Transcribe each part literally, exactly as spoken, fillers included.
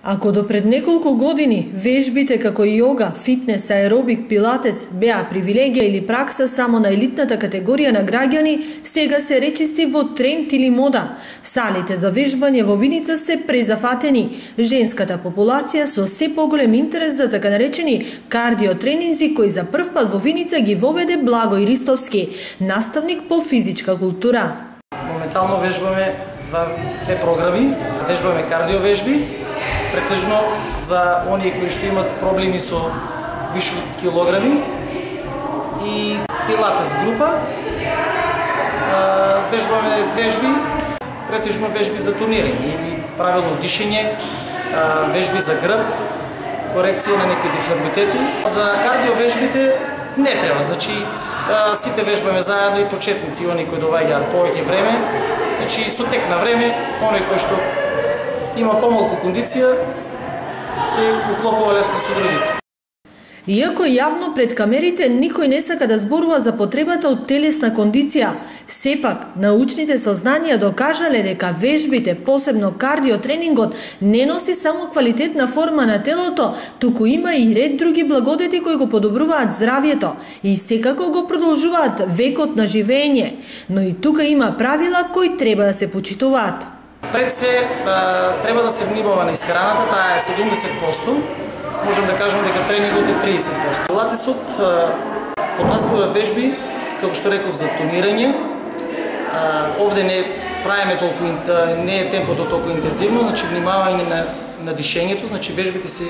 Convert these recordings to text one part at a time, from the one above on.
Ако до пред неколку години вежбите како јога, фитнес, аеробик, пилатес беа привилегија или пракса само на елитната категорија на граѓани, сега се речиси во тренд или мода. Салите за вежбање во Виница се презафатени. Женската популација со се поголем интерес за така наречени кардио тренинзи кои за прв пат во Виница ги воведе Благој Ристовски, наставник по физичка култура. Моментално вежбаме два, две програми, вежбаме кардио вежби, претежно за оние кои што имат проблеми со виши килограми, и пилатес група. Вежбаме вежби, претежно вежби за тонирање или правилно дишење, вежби за грб, корекција на некои деформитети. За кардио вежбите не треба, значи сите вежбаме заедно, и почетници, и оние кои доаѓаат повеќе време. Значи со тек на време, оној кој што има помалку кондиција се уклопува лесно со другите. Иако јавно пред камерите никој не сака да зборува за потребата од телесна кондиција, сепак научните сознанија докажале дека вежбите, посебно кардио тренингот, не носи само квалитетна форма на телото, туку има и ред други благодети кои го подобруваат здравјето и секако го продолжуваат векот на живење. Но и тука има правила кои треба да се почитуваат. Пред се треба да се внимава на исхраната, таа е седумдесет проценти. Можем да кажем дека тренингот е триесет проценти. Пилатесот подразбира вежби, како што реков, за тонирање. Овде не правиме толку, не е темпото толку интензивно, значи внимавање на, на дишењето, значи вежбите се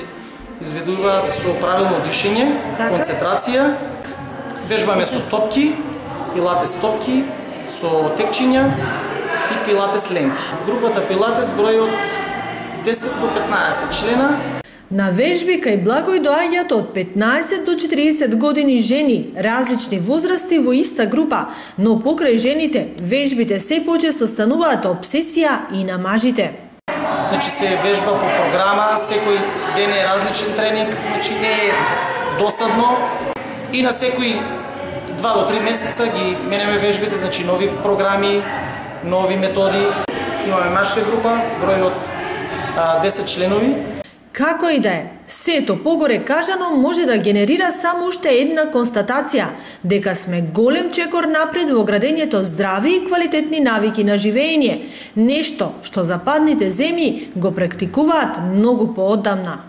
изведуваат со правилно дишење, концентрација. Вежбаме со топки, пилатес топки, со текчиња и пилатес ленти. В групата пилатес број од десет до петнаесет члена. На вежби кај Благој доаѓаат од петнаесет до четириесет години жени, различни возрасти во иста група, но покрај жените, вежбите се почесто стануваат обсесија и на мажите. Значи се вежба по програма, секој ден е различен тренинг, значи не е досадно, и на секој два до три месеца ги менеме вежбите, значи нови програми, нови методи. Имаме машка група, број од десет членови. Како и да е, сето погоре кажано може да генерира само уште една констатација, дека сме голем чекор напред во градењето здрави и квалитетни навики на живење, нешто што западните земји го практикуваат многу поодамна.